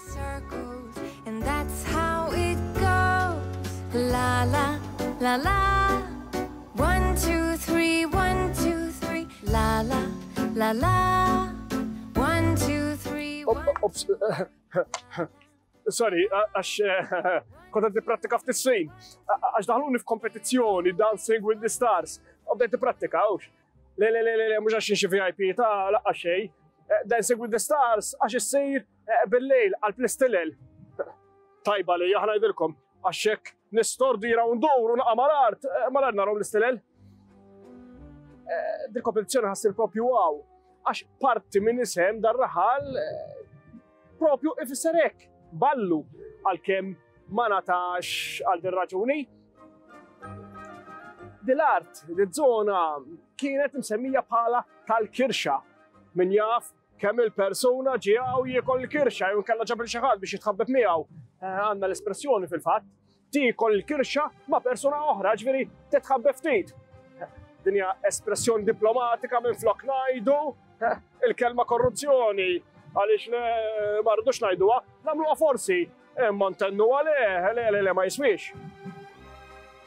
Circles, and that's how it goes. La la, la la. 1, 2, 3, 1, 2, 3. La la, la la. 1, 2, 3, 1. Ops, sorry, għax kont qed nipprattika ftit snin. Għax daħluni f'kompetizzjoni Dancing with the Stars. U bdejt nipprattika, hux. Le, le, le, le, le, mhux għax xi VIP ta' laqqa xejn. Dancing with the Stars għax issir bil-lejl għal plistilel. Tajba li aħna ngħidilkom għax hekk nistordi jiraw ndur u naqa' mal-art, mal-art naraw l-istilel. Dil kompetizzjoni ħassir propju għaw għax parti minn isem dar-raħal propju ifisser hekk, ballu għalkemm ma natax għal din raġuni. Dil-art, dil-żona kienet msemmija bħala tal-kirxa. Min jaf kemm il-persuna ġie hawn jiekol il-kirxa jew inkella ġab xi ħadd biex jitħabbeb miegħu. Għandna l-espressjoni fil-fatt, tiekol il-kirxa ma' persuna oħra, ġifieri titħabbeb ftit. Din hija espressjoni diplomatika minn flok ngħidu il-kelma korruzzjoni għaliex le ma rridux ngħiduha, nagħmluha forsi, imma ntennu għalih, le le le ma jiswix.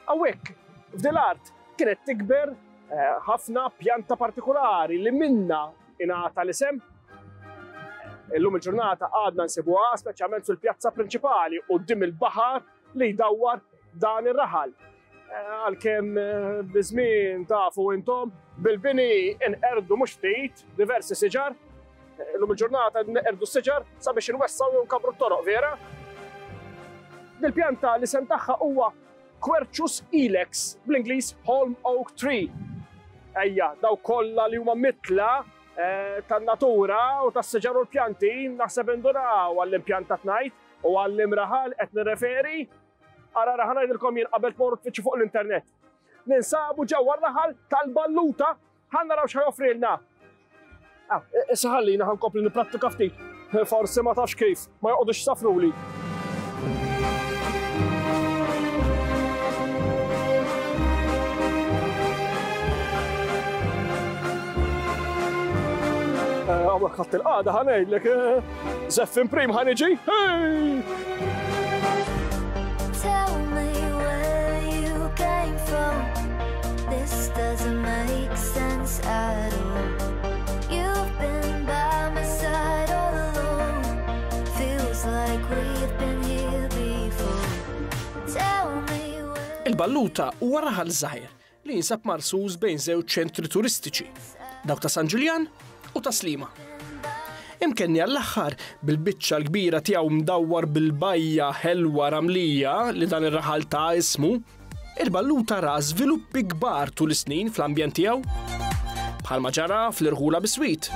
Hawnhekk f'din l-art kienet tikber ħafna pjanta partikolari li minna ingħata l-isem. Illum il-ġurnata għadna nsibuha speċjalment fil-pjazza prinċipali quddiem il-baħar li jdawwar dan ir-raħal. Għalkemm biż-żmien tafu intom bil-bini inqerdu mhux ftit diversi siġar. Illum il-ġurnata neqerdu s-siġar sabiex inwessgħu jew nkabru t-toroq, vera? Dil-pjanta l-isem tagħha huwa Quercus ilex, bl-Ingliż Holm Oak Tree. Ejja, daw kollha li huma mitla tan-natura u tas-siġar u l-pjanti, naħseb indunaw għall-impjant ta' tnajt u għall-imraħal qed nirreferi. Ara raħal ngħidilkom jien qabel tmorru tfittxu fuq l-internet. Ninsabu ġewwa r-raħal tal-Balluta, ħa naraw x'ħa joffrilna. Issa ħallina ħa nkompli nipprattika ftit. Forsi ma tafx kif, ma joqogħdux safruli. Għamlek ħadd il-qagħda ħa ngħidlek, Zeffin prim ħa niġi. Hey! Tell me where you came from. This doesn't make sense at all. You've been by my side all along. Feels like we've been here before. Tell me where. Il-Balluta huwa raħal żgħir li jinsab marsus bejn żewġ ċentri turistiċi, dawk ta' San Ġiljan u ta' Sliema. Imkenni għall-aħħar bil-biċċa l-kbira tiegħu mdawwar bil-bajja ħelwa ramlija li dan ir-raħal ta' ismu, il-Balluta ra żviluppi kbar tul is-snin fl-ambjent tiegħu. Bħalma ġara fl-irħula biswit.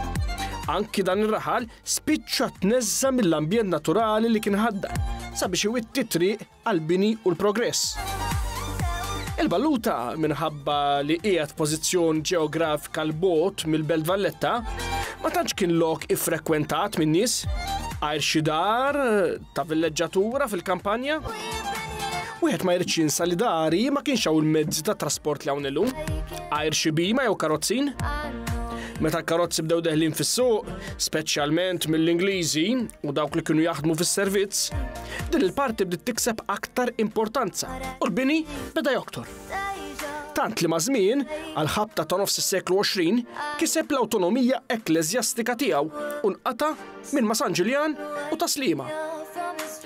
Anki dan ir-raħal spiċċa tneżża mill-ambjent naturali li kien ħaddan sabiex iwitti triq għall-bini u l-progress. Il-Balluta, minħabba li qiegħed f'pożizzjon ġeografika 'l bogħod mill-Belt Valletta, ma tantx kien lok iffrekwentat min-nies, għajr xi dar ta' villeġġatura fil-kampanja. Wieħed ma jridx jinsa li dari ma kienx hawn il-mezzi ta' trasport li hawn illum, għajr xi bima jew karozzin. Meta l-karozzi bdew deħlin fis-suq, speċjalment mill-Ingliżi u dawk li kienu jaħdmu fis-servizz, din il-parti bdiet tikseb aktar importanza u l-bini beda joktor. Tant li maż-żmien, għall-ħabta ta' nofs is-seklu 20, kiseb l-awtonomija ekkleżjastika tiegħu u nqata' minn ma' San Ġiljan u ta' Sliema.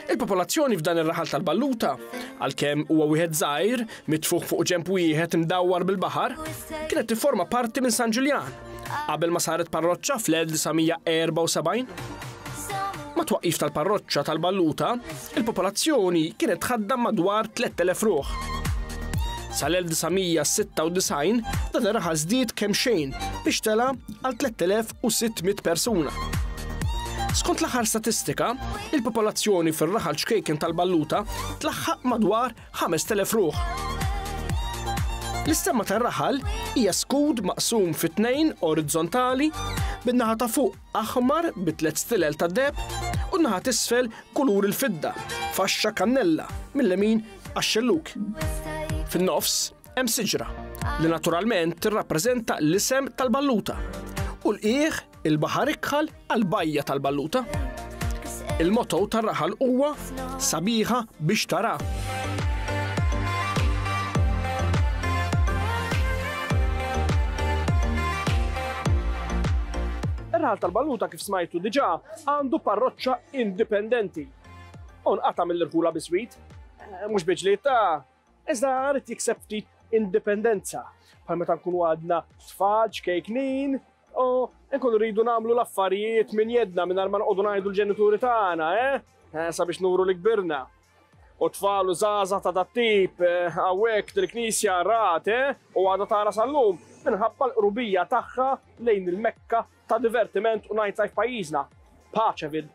Il-popolazzjoni f'dan ir-raħal tal-Balluta, għalkemm huwa wieħed żgħir, mitfugħ fuq ġenb wieħed imdawwar bil-baħar, kienet tifforma parti minn San Ġiljan, qabel ma saret parroċċa fl-1974. Mat-twaqqif tal-parroċċa tal-Balluta, il-popolazzjoni kienet tħaddam madwar 3,000 ruħ. Sal-1996 dan ir-raħal żdied kemxejn biex tela' għal 3,600 persuna. Skont l-aħħar statistika, il-popolazzjoni fir-raħal ċkejken tal-Balluta tlaħħaq madwar 5,000 ruħ. L-istemma tar-raħal hija skud maqsum fi tnejn orizzontali bin-naħa ta' fuq aħmar bi tliet stilel ta' deheb u n-naħa t'isfel kulur il-fidda, faxxa kannella mil-lemin għax-xellug. Fin-nofs Hemm siġra li naturalment tirrappreżenta l-isem tal-Balluta u l-qiegħ il-baħar ikħal għall-bajja tal-Balluta. Il-motto tar-raħal huwa sabiħa biex tara. Ir-raħal tal-Balluta kif smajtu diġà għandu parroċċa indipendenti. U nqata' mill-irħula biswit, eh, mhux biġliet ta' Iżda rrid jikseb ftit indipendenza, bħal meta nkunu għadna tfal ċkejknin u nkunu rridu nagħmlu l-affarijiet minn jedna mingħajr ma noqogħdu ngħidu l-ġenituri tagħna, eh? eh sabiex nuru li kbirna. U tfal u żgħażagħ ta' dat-tip eh, hawnhekk dil-knisja rat, eh? U għadha tara sal-lum minħabba l-qrubija tagħha lejn il-Mekka ta' divertiment u nightlife pajjiżna, Paċeville.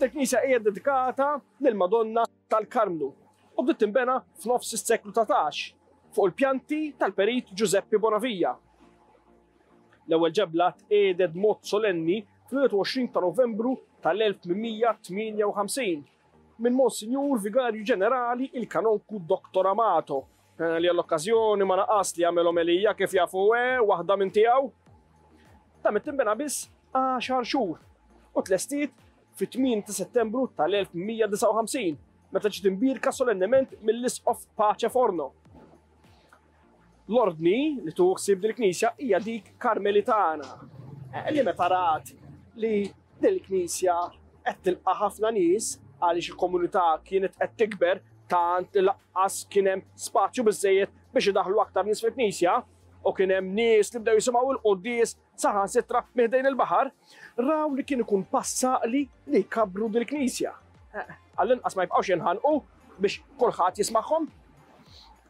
Dil-knisja hija dedikata lill-Madonna tal-Karmnu u bdiet tinbena f'nofs is-seklu 19 fuq il-pjanti tal-Perit Ġużeppi Bonavia. L-ewwel ġebla tqiegħdet b'mod solenni fl-21 ta' Novembru tal-1858 minn Monsinjur Vigarju Ġenerali il-Kanonku Dottor Amato, li għall-okkażjoni ma naqas li jagħmel omelija kif jafu waħda minn tiegħu. Damet tinbena biss għaxar xhur u tlestiet fit-8 ta' Settembru tal-1159, meta ġiet imbierka solennement mill-Isqof Pace Forno. L-ordni li tuħu ħsieb dil-knisja hija dik Karmelitana, eh, li meta rat li dil-knisja qed tilqa' ħafna nies għaliex il-komunità kienet qed tikber tant li laqqas kien hemm spazju biżejjed biex idaħlu aktar nies fil-knisja u kien hemm nies li bdew jisimgħu l-quddies saħansitra minn ħdejn il-baħar, raw li kien ikun pass għaqli li jkabbru dil-knisja. Eh, għall-inqas ma jibqgħux jinħanqu biex kulħadd jismagħhom.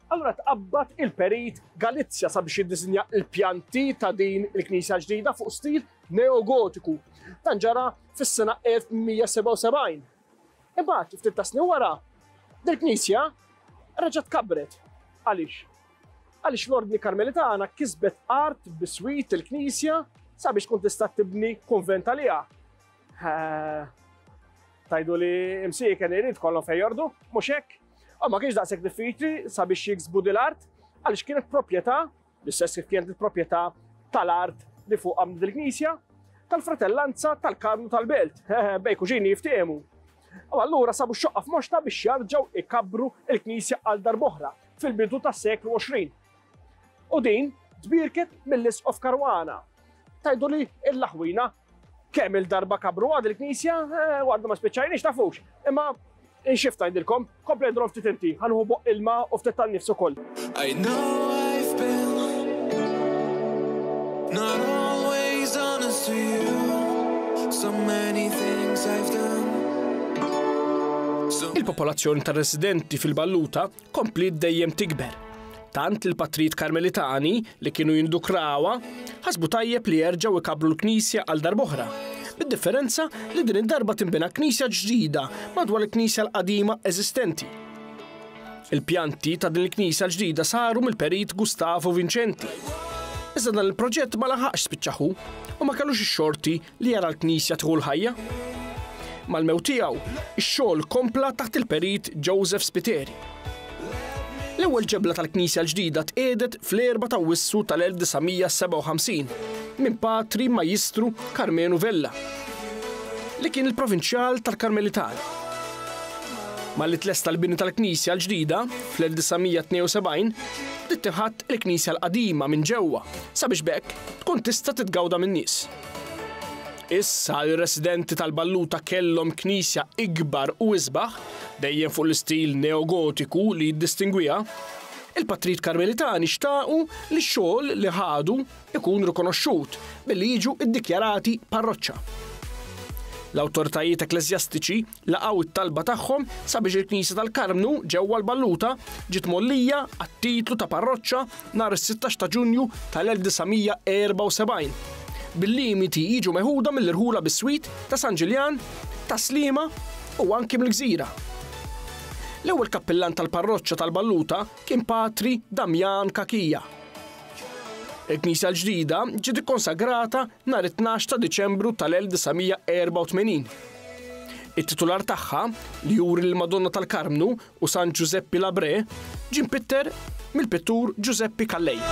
Allura tqabbad il-perit Galizja sabiex jiddisinja l-pjanti ta' din il-knisja ġdida fuq stil neogotiku. Dan ġara fis-sena 1177. Imbagħad, ftit ta' snin wara, dil-knisja reġgħet kabret. Għaliex? Għaliex l-Ordni Karmelitana kisbet art biswit il-knisja sabiex tkun tista' tibni kunvent għaliha. Tajdu li imsieken irid kollhom fejn jordu, mhux hekk? U ma kienx daqshekk diffiċli sabiex jiksbu dil-art għaliex kienet proprjetà, l-istess kif kienet il-proprjetà tal-art li fuq għamlet il-knisja, tal-fratellanza tal-Karmnu tal-Belt, bej kuġini jiftehmu. U allura sabu xoqqa f'moxta biex jarġgħu ikabbru il-knisja għal darb'oħra fil-bidu tas-seklu 20. U din tbierket mill-Isqof Caruana. Tajdu li l-laħwina kemm il-darba kabru għad il-knisja, eh, għadna ma spiċċajniex tafux. Imma inxift ngħidilkom, kompli għidilhom ftit inti, ħanħu boq ilma u ftit tan-nifs ukoll. I know I've been not always honest to you. So many things I've done. Il-popolazzjoni tar-residenti fil-Balluta kompliet dejjem tikber. Tant li l-patrijiet Karmelitani li kienu jindukrawha ħasbu tajjeb li jerġgħu jkabbru l-knisja għal darb'oħra, bid-differenza li din id-darba tinbena knisja ġdida madwar il-knisja l-qadima eżistenti. Il-pjanti ta' din il-knisja l-ġdida saru mill-perit Gustavo Vincenti. Iżda dan il-proġett ma laħaqx spiċċa hu u ma kellux ix-xorti li jara l-knisja tieħu l-ħajja. Mal-mewt tiegħu, ix-xogħol kompla taħt il-perit Joseph Spiteri. L-ewwel ġebla tal-knisja l-ġdida tqiegħdet fl-4 ta' Awwissu tal-1957 minn Patri Majjistru Karmenu Vella, li kien il-provinċjal tal-Karmelitani. Malli tlesta l-bini tal-knisja l-ġdida fl-1972, bdiet tinħatt il-knisja l-qadima minn ġewwa sabiex b'hekk tkun tista' titgawda min-nies. Issa l-residenti tal-Balluta kellhom knisja ikbar u isbaħ, dejjem fuq l-istil neogotiku li jiddistingwiha, il-patrijiet Karmelitani xtaqu li x-xogħol li ħadu ikun rikonoxxut billi jiġu ddikjarati parroċċa. L-awtoritajiet ekkleżjastiċi laqgħu t-talba tagħhom sabiex il-Knisja tal-Karmnu ġewwa l-Balluta ġiet mgħollija għat-titlu ta' parroċċa nhar is-16 ta' Ġunju tal-1974, bil-limiti jiġu meħuda mill-irħula biswit ta' San Ġiljan, Tas-Sliema u anki mill-Gżira. L-ewwel kappillan tal-parroċċa tal-Balluta kien Patri Damjan Cachia. Il-knisja l-ġdida ġiet ikkonsagrata nhar it-tnax ta' Diċembru tal-1984. It-titular tagħha, li juri lill-Madonna tal-Karmnu u San Ġużeppi Labrè, ġie mpitter mill-pittur Ġużeppi Callej.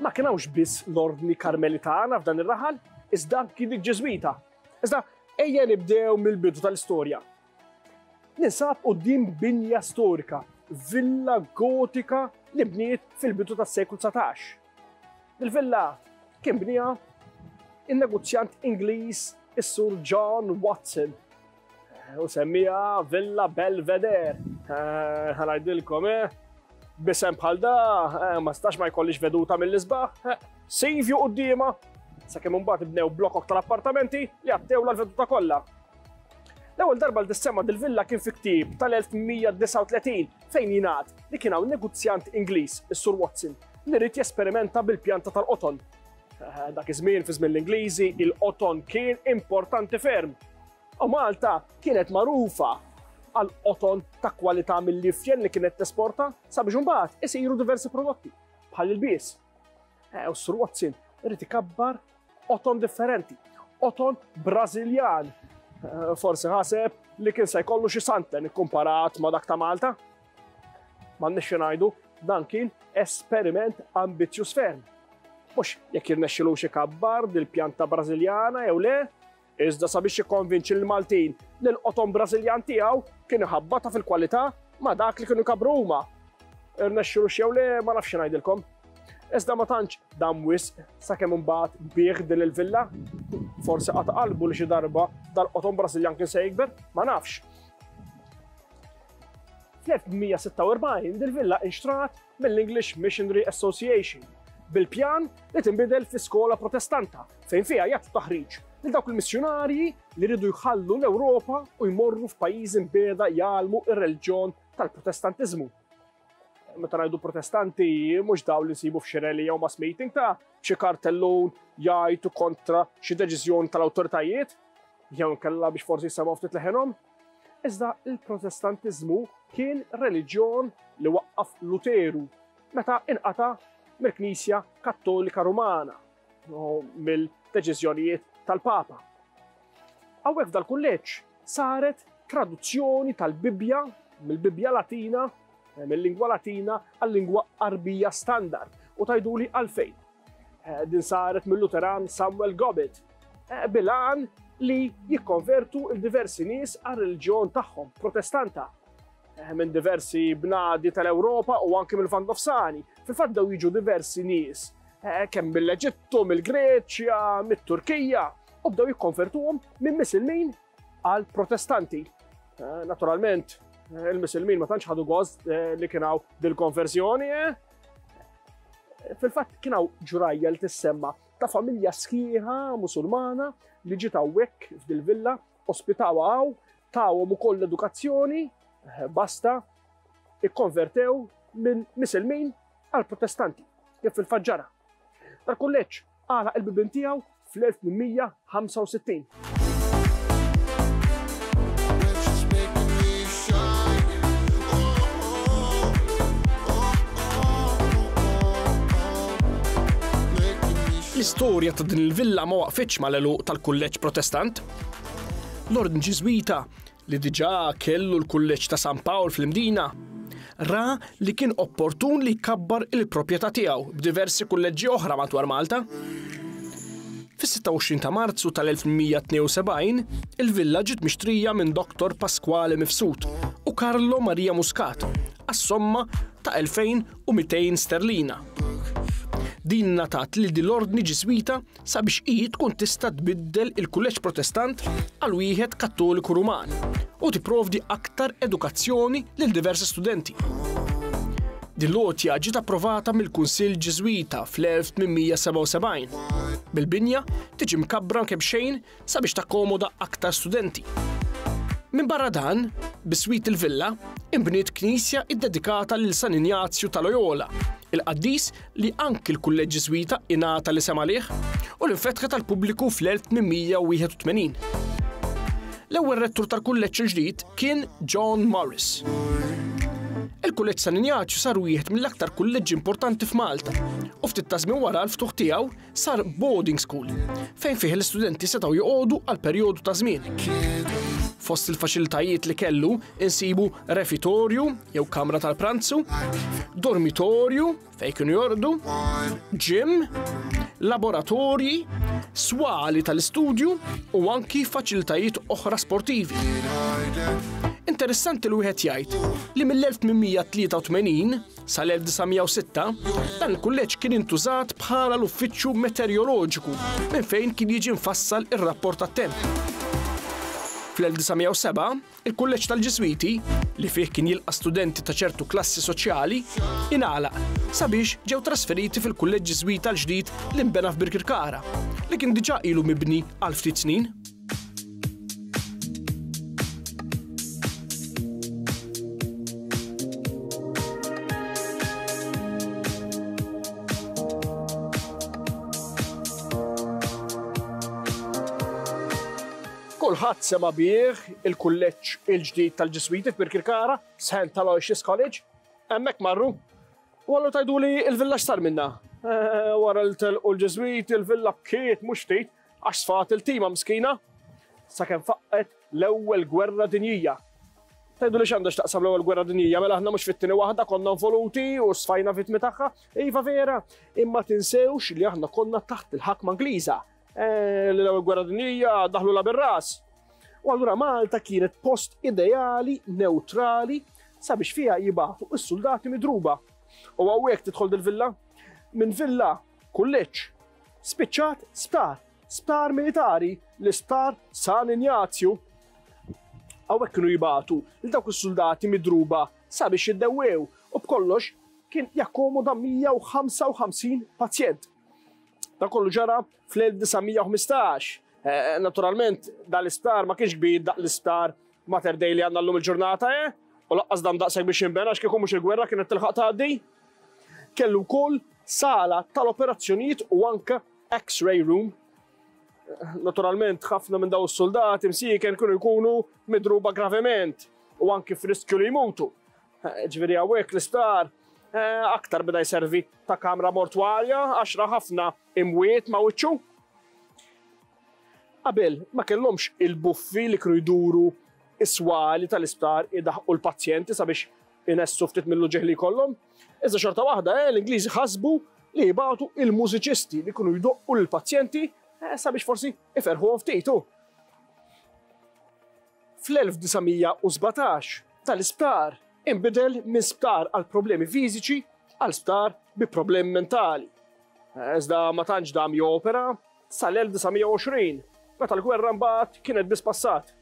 Ma kien hawnx biss l-Ordni Karmelitana f'dan ir-raħal, iżda anki dik Ġiżwita. Iżda ejja nibdew mill-bidu tal-istorja. Ninsab quddiem binja storika, villa gotika li bniet fil-bidu tas-seklu 19. Il-villa kien bniha in-negozjant Ingliż is-Sur John Watson. U semmiha Villa Belvedere. Eh, ħanajdilkom, eh? Bisem bħal da, eh, ma stax ma jkollix veduta mill-isbaħ. Eh, Sivju quddiema, sakemm imbagħad bnew blokok tal-appartamenti li għattew l-veduta kollha. L-ewwel darba li tissemma dil-villa kien fi ktieb tal-1839 fejn jingħad li kien hawn negozjant Ingliż, is-Sur Watson, li ried jesperimenta bil-pjanta tal-qoton. Eh, dak iż-żmien fi żmien l-Ingliżi, il-qoton kien importanti ferm. U Malta kienet magħrufa għal qoton ta' kwalità mill-ifjen li kienet tesporta sabiex imbagħad isiru diversi prodotti bħal il-bies. Eh, u Sur Watson irid ikabbar qoton differenti, qoton Brażiljan. Eh, forsi ħaseb li kien se jkollu xi santen ikkumparat ma' dak ta' Malta. M'għandniex xi ngħidu, dan kien esperiment ambizzjuż ferm. Mhux jekk jirnexxilux ikabbar dil-pjanta Brażiljana jew le, iżda sabiex jikkonvinċi lill-Maltin li l-qoton Brażiljan tiegħu kien iħabbatha fil-kwalità ma' dak li kienu jkabbru huma. Irnexxilux jew le ma nafx xi ngħidilkom. Iżda ma tantx dam wisq sakemm imbagħad biegħ din il-villa. Forsi qata' qalbu li xi darba dal-qoton Brażiljan kien se jikber, ma nafx. Fl-1846 dil-villa inxtrat mill-English Missionary Association bil-pjan li tinbidel fi skola protestanta fejn fiha jagħtu taħriġ lil dawk il-missjunarji li rridu jħallu l-Ewropa u jmorru f'pajjiżi mbiegħda jgħallmu r-reliġjon tal-Protestantiżmu. Meta ngħidu protestanti mhux dawn li nsibu f'xi rally jew mass meeting ta' xi kartellun jgħajtu kontra xi deċiżjoni tal-awtoritajiet jew inkella biex forsi jsemgħu ftit leħenhom. Iżda il-Protestantiżmu kien reliġjon li waqqaf Luteru meta inqata' mill-Knisja Kattolika Rumana u mill-deċiżjonijiet tal-Papa. Hawnhekk f'dal-kulleġġ saret traduzzjoni tal-Bibbja mill-Bibbja Latina, eh, mill-lingwa Latina għal-lingwa Arbija standard. U tgħiduli għalfejn. Eh, din saret mill-Luteran Samuel Gobbett, eh, bil-għan li jikkonvertu il-diversi nies għar-reliġjon tagħhom, protestanta, eh, minn diversi bnadi tal-Ewropa u anki mill-Lvant Nofsani. Fil-fatt daw jiġu diversi nies, kemm mill-Eġittu, mill-Greċja, mit-Turkija, u bdew jikkonvertuhom minn misilmin għal protestanti. Naturalment, il-misilmin ma tantx ħadu gost li kien hawn dil-konversjoni, Fil-fatt kien hawn ġrajja li tissemma ta' familja sħiħa Musulmana li ġiet hawnhekk f'dil-villa, ospitawha hawn, tawhom ukoll l-edukazzjoni, eh, basta ikkonvertew minn misilmin għal protestanti, kif fil-fatt ġara. Dal-kulleġġ għalaq il-bibien tiegħu fl-1865. L-istorja ta' din il-villa ma waqfitx mal-għeluq tal-kulleġġ Protestant. L-Ordni Ġiżwita, li diġà kellu l-kulleġġ ta' San Pawl fl-Imdina, ra li kien opportun li jkabbar il-proprjetà tiegħu b'diversi kulleġġi oħra madwar Malta. Fis-26 ta' Marzu tal-1872, il-villa ġiet mixtrija minn Dottor Pasquale Mifsud u Carlo Maria Muscat għas-somma ta' 2,200 sterlina. Din ngħatat lil din l-Ordni Ġiżwita sabiex hi tkun tista' tbiddel il-kulleġġ Protestant għal wieħed Kattoliku Ruman u tipprovdi aktar edukazzjoni lil diversi studenti. Din l-għotja ġiet approvata mill-Kunsill Ġiżwita fl-1877, bil-binja tiġi mkabbra kemxejn sabiex takkomoda aktar studenti. Minbarra dan, biswit il-villa, inbniet knisja iddedikata lil San Injazju ta' Loyola, il-qaddis li anki l-Kulleġġ Ġiżwita ingħata l-isem għalih u li nfetħet għall-pubbliku fl-1881. L-ewwel rettur tal-kulleġġ il-ġdid kien John Morris. Il-Kulleġġ San Injazju sar wieħed mill-aktar kulleġġi importanti f'Malta u ftit ta' żmien wara l-ftuħ tiegħu sar boarding school fejn fih l-istudenti setgħu joqogħdu għal perjodu ta' żmien. Fost il-faċilitajiet li kellu insibu refitorju jew kamra tal-pranzu, dormitorju fejn kienu jorqdu, gym, laboratorji, swali tal-istudju u anki faċilitajiet oħra sportivi. Interessanti li wieħed jgħid li mill-1883 Sal-1906, dan il-kulleġġ kien intużat bħala l-uffiċċju meteoroloġiku minn fejn kien jiġi mfassal ir-rapport tat-temp. Fl-1907, il-Kulleġġ tal-Ġiżwiti, li fih kien jilqa' studenti ta' ċertu klassi soċjali, ingħalaq sabiex ġew trasferiti fil-Kulleġġ Ġiżwita l-ġdid li nbena f'Birkirkara, li kien diġà ilu mibni għal ftit snin. Kulħadd sema' bih il-kulleġġ il-ġdid tal-Ġiżwiti f'Birkirkara, St. Aloysius College. Hemmhekk marru. U allura tgħiduli l-villa x'sar minnha? Eh, wara li telqu l-Ġiżwiti l-villa bkiet mhux ftit Għax sfat il-tima miskina sakemm faqqgħet l-Ewwel Gwerra Dinjija. Tgħidu li x'għandha x'taqsam l-Ewwel Gwerra Dinjija, mela aħna mhux fit-tieni waħda konna involuti u sfajna vittmi tagħha? Iva vera, imma tinsewx li aħna konna taħt il-ħakma Ingliża. Eh, li l-Ewwel Gwerra Dinjija daħlu la bir-ras. U allura Malta kienet post ideali, neutrali, sabiex fiha jibagħtu s-suldati midruba. U hawnhekk tidħol dil-villa? Minn villa kulleġġ Spiċċat sptar, sptar militari, l-isptar San Injazju. Hawnhekk kienu jibagħtu lil dawk is-suldati midruba sabiex jiddewwew u b'kollox kien jakkomoda 155 pazjent. Dan kollu ġara fl-1915. Eh, naturalment, dal-isptar ma kienx kbir daq l-isptar Mater Dei li għandna llum il-ġurnata, eh? U laqqas dam daqshekk biex jinbena għax kieku mhux il-gwerra kienet tilħaq tgħaddi. Kellu wkoll sala tal-operazzjonijiet u anke X-ray room. Naturalment, ħafna minn daw is-soldati msieken kienu jkunu midruba gravement u anki f'riskju li jmutu. Ġifieri hawnhekk l-isptar eh, aktar beda jservi ta' kamra mortwarja għax ra ħafna imwiet ma' wiċċu. Qabel ma kellhomx il-buffi li kienu jduru s-swali tal-isptar idaħħqu l-pazjenti sabiex inessu ftit mill-uġigħ li jkollhom. Iżda xorta waħda, eh, l-Ingliżi ħasbu li jibagħtu il-mużiċisti li kienu jdoqqu lill-pazjenti eh, sabiex forsi iferħuhom ftit. Fl-1917 tal-isptar inbidel minn sptar għal problemi fiżiċi għal sptar bi problemi mentali. Iżda ma tantx dam jopera sal-1920, meta l-gwerra mbagħad kienet biss passat.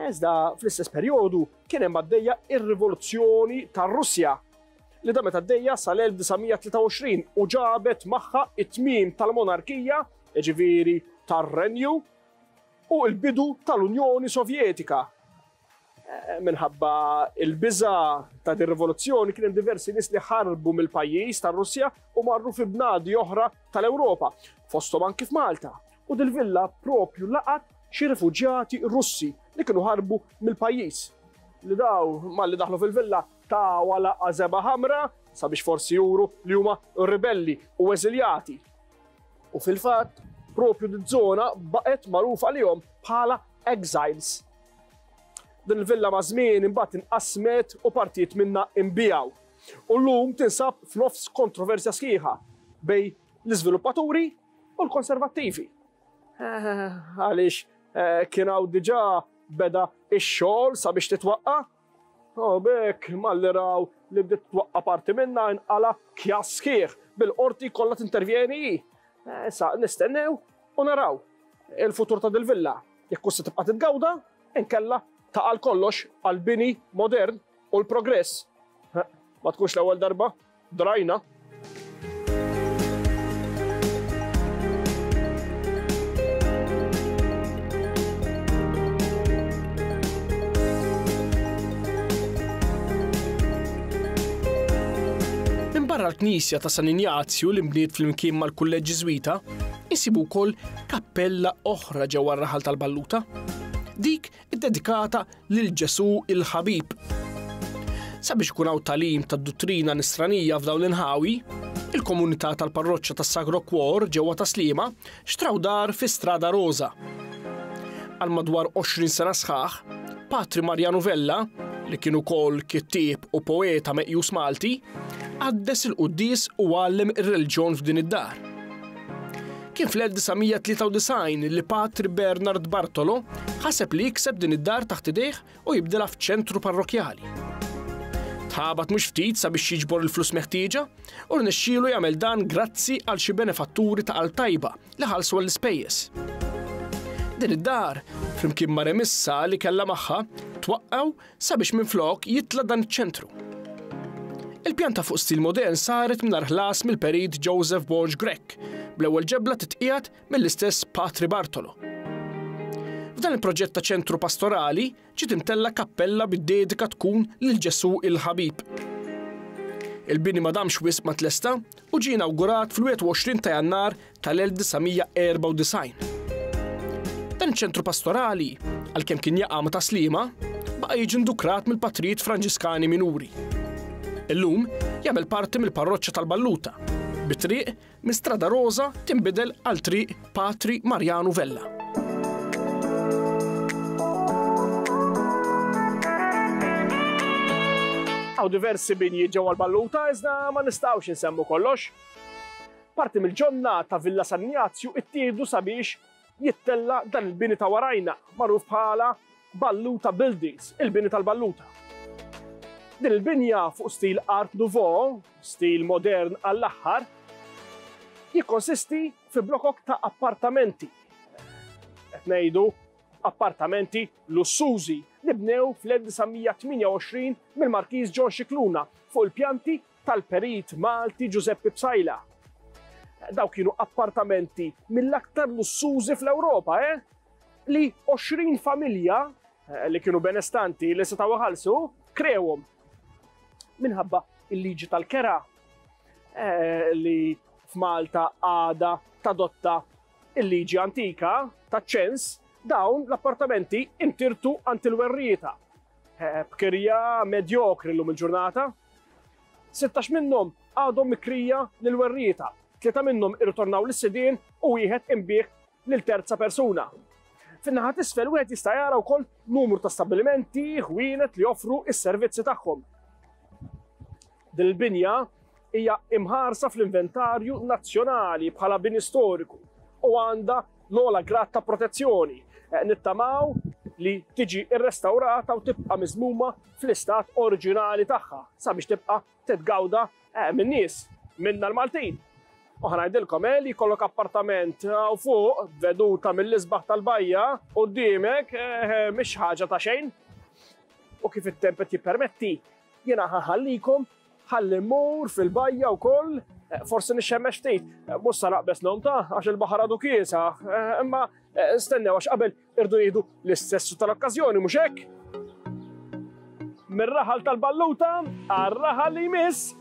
Iżda fl-istess perjodu kien hemm għaddejja ir-rivoluzzjoni tar-Russja li damet għaddejja sal-1923 u ġabet magħha it-tmiem tal-monarkija, jiġifieri tar-renju, u l-bidu tal-Unjoni Sovjetika. Minħabba l-biża' ta' din rivoluzzjoni kien hemm diversi nies li ħarbu mill-pajjiż tar-Russja u marru fi bnadi oħra tal-Ewropa, fosthom anki f'Malta. U dil-villa propju laqat xi rifuġjati Russi li kienu ħarbu mill-pajjiż. Li daw malli daħlu fil-villa taw laqgħa żebgħa ħamra sabiex forsi juru li huma ribelli u eżiljati. U fil-fatt, propju diż-żona baqgħet magħrufa għalihom bħala exiles. Din il-villa maż-żmien imbagħad inqasmet u partijiet minnha inbiegħu. U llum tinsab f'nofs kontroversja sħiħa bejn l-iżviluppaturi u l-konservattivi. Għaliex kien hawn diġà beda x-xogħol sabiex titwaqqa'. U b'hekk malli raw li bdiet twaqqa' parti minnha inqala' kjass sħiħ bil-qorti kollha tintervjeni hi. Issa nistennew u naraw il-futur ta' dil-villa, jekk hux se tibqa' titgawda, inkella taqa' għal kollox għall-bini modern u l-progress. Ma tkunx l-ewwel darba, drajna. Minbarra l-knisja ta' San Injazju li nbniet flimkien mal-Kulleġġ Ġiżwita, insibu wkoll kappella oħra ġewwa r-raħal tal-Balluta, dik iddedikata lil Ġesù il-Ħabib. Sabiex ikun hawn tagħlim tad-duttrina nisranija f'dawn l-inħawi, il-komunità tal-parroċċa tas-Sagro Cuor ġewwa Tas-Sliema xtraw dar fi Strada Rosa. Għal madwar 20 sena sħaħ, Patri Marjanu Vella, li kien ukoll kittieb u poeta meqjus Malti, qaddes il-quddies u għallem ir-reliġjon f'din id-dar. Kien fl-1993 li Patri Bernard Bartolo ħaseb li jikseb din id-dar taħt idejh u jibdilha f'ċentru parrokkjali. Tħabat mhux ftit sabiex jiġbor il-flus meħtieġa u rnexxielu jagħmel dan grazzi għal xi benefatturi ta' qalb tajba li ħallsu għall-ispejjeż. Din id-dar, flimkien ma' remissa li kellha magħha, twaqqgħu sabiex minflok jitla' dan iċ-ċentru. Il-pjanta fuq stil modern saret mingħajr ħlas mill-perit Joseph Borg Grech, bl-ewwel ġebla titqiegħed mill-istess Patri Bartolo. F'dan il-proġett ta' ċentru pastorali ġiet imtella' kappella bid-dedika tkun lil Ġesù il-Ħabib. Il-bini ma damx wisq ma tlesta u ġie inawgurat fl-21 ta' Jannar tal-1994. Dan iċ-ċentru pastorali, għalkemm kien jaqa' ma' Tas-Sliema, baqa' jiġi ndukrat mill-patrijiet Franġiskani Minuri. Illum jagħmel parti mill-parroċċa tal-Balluta, bi triq minn Strada Rosa tinbidel għal Triq Patri Marjanu Vella. Hawn diversi binji ġewwa l-Balluta iżda ma nistgħux insemmu kollox. Parti mill-ġonna ta' Villa San Injazju ittieħdu sabiex jittella' dan il-bini ta' warajna, magħruf bħala Balluta Buildings, il-bini tal-Balluta. Din il-binja fuq stil Art Nouveau, stil modern għall-aħħar, jikkonsisti fi blokok ta' appartamenti. Qed ngħidu appartamenti lussużi li bnew fl-1928 mill-Markiż John Scicluna fuq il-pjanti tal-perit Malti Giuseppe Psaila. Dawk kienu appartamenti mill-aktar lussużi fl-Ewropa, eh? Li 20 familja eh, li kienu benestanti li setgħu iħallsu krewhom minħabba il-liġi tal-kera eh, li f'Malta għada tadotta il-liġi antika ta' ċens dawn l-appartamenti intirtu għand il-werrieta. Eh, b'kirja medjokri llum il-ġurnata. 16 minnhom għadhom mikrija lill-werrieta, tlieta minnhom irritornaw lis-sidien u wieħed inbiegħ lil terza persuna. Fin-naħa t'isfel wieħed jista' jara wkoll numru ta' stabbilimenti, ħwienet li joffru s-servizzi tagħhom. Din il-binja hija imħarsa fl-inventarju nazzjonali bħala bini storiku u għandha l-ogħla grad ta' protezzjoni. Eh, nittamaw li tiġi rrestawrata u tibqa' miżmuma fl-istat oriġinali tagħha sabiex tibqa' titgawda eh, min-nies, minna l-Maltin. U ħanajdilkom eh, li jkollok appartament u fuq veduta mill-isbaħ tal-bajja quddiemek mhix ħaġa ta' xejn. U kif it-temp qed jippermetti, Jiena ħa nħallikom, ħalli mmur fil-bajja wkoll, eh, forsi nixxemmex ftit, eh, mhux sa naqbeż ngħum ta' għax il-baħar għadu kiesaħ, eh, imma stennew għax qabel irdu jieħdu l-istessu tal-okkażjoni mhux hekk? Mir-raħal tal-Balluta għar-raħal li jmiss.